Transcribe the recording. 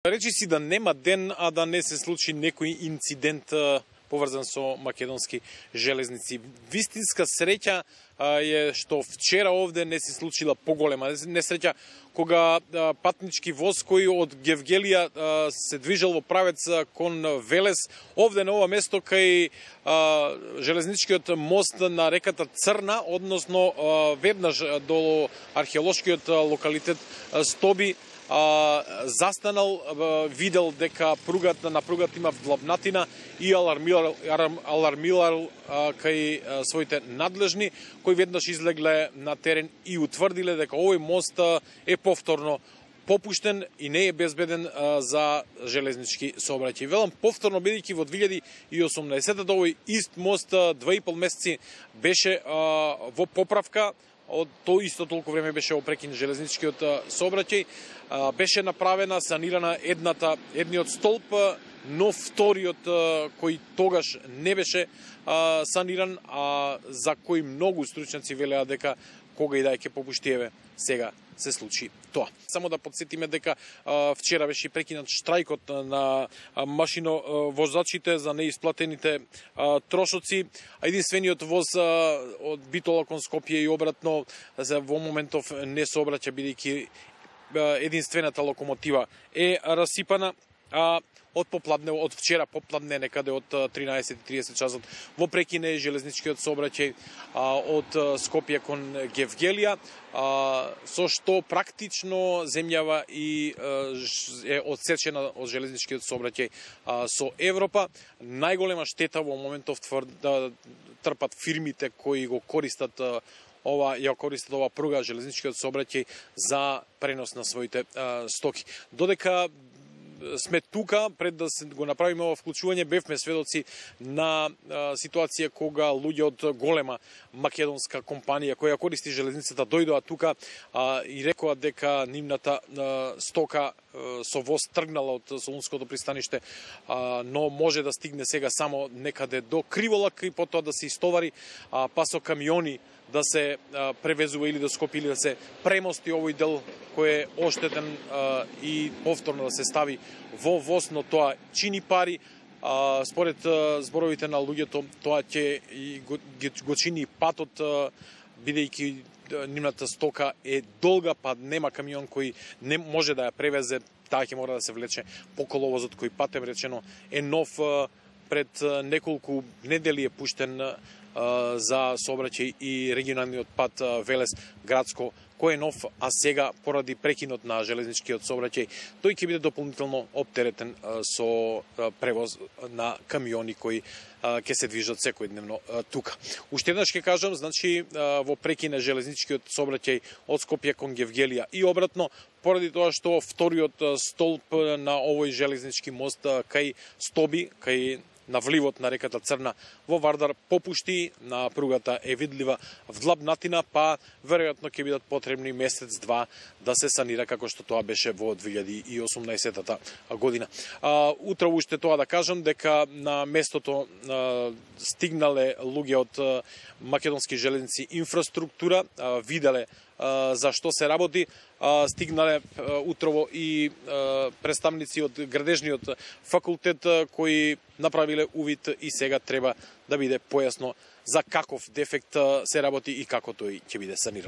Речи си да нема ден, а да не се случи некој инцидент поврзан со македонски железници. Вистинска среќа е што вчера овде не се случила поголема несреќа, кога патнички воз кој од Гевгелија се движел во правец кон Велес, овде на ова место кај железничкиот мост на реката Црна, односно веднаш до археолошкиот локалитет Стоби, застанал, видел дека на пругата има влабнатина и алармирал кај своите надлежни, кои веднаш излегле на терен и утврдиле дека овој мост е повторно попуштен и не е безбеден за железнички сообраќај. Велам повторно, бидејќи во 2018 овој ист мост 2,5 месеци беше во поправка, од тоа исто толку време беше опрекин железничкиот сообраќај, беше направена, санирана едниот столб, но вториот кој тогаш не беше саниран, за кој многу стручњаци велеа дека кога и да ќе попушти, еве сега се случи тоа. Само да подсетиме дека вчера беше прекинат штрајкот на машиновозачите за неисплатените трошоци. Единствениот воз од Битола кон Скопје и обратно во моментов не сообраќа, бидејќи единствената локомотива е расипана. Од вчера попладне, некаде од 13:30 часот, во прекине железничкиот сообраќај од Скопје кон Гевгелија, со што практично земјава и е одсечена од железничкиот сообраќај со Европа. Најголема штета во моментов трпат фирмите кои го користат ова пруга, железничкиот сообраќај, за пренос на своите стоки. Додека сме тука, пред да се го направиме ова вклучување, бевме сведоци на ситуација кога луѓе од голема македонска компанија која користи железницата дојдоа тука и рекоа дека нивната стока со воз тргнала од Солунското пристаниште, но може да стигне сега само некаде до Криволак и потоа да се истовари, па со камиони да се превезува или до Скопје, или да се премости овој дел кој е оштетен и повторно да се стави во воз, но тоа чини пари. Според зборовите на луѓето, тоа ќе го чини патот, бидејќи нивната стока е долга, па нема камион кој не може да ја превезе, таа ќе мора да се влече по коловозот кој, патем речено, е нов, пред неколку недели е пуштен за сообраќај и регионалниот пат Велес градско, кој е нов, а сега поради прекинот на железничкиот сообраќај, тој ќе биде дополнително оптеретен со превоз на камиони кои ќе се движат секојдневно тука. Уште еднаш ќе кажам, значи во прекине железничкиот сообраќај од Скопје кон Гевгелија и обратно, поради тоа што вториот столб на овој железнички мост кај Стоби, кај на вливот на реката Црна во Вардар попушти, на пругата е видлива влабнатина, па веројатно ќе бидат потребни месец-два да се санира, како што тоа беше во 2018 година. Утро уште тоа да кажам дека на местото стигнале луѓе од македонски железници инфраструктура, виделе за што се работи, стигнале утрово и представници од градежниот факултет кои направиле увид и сега треба да биде појасно за каков дефект се работи и како тој ќе биде саниран.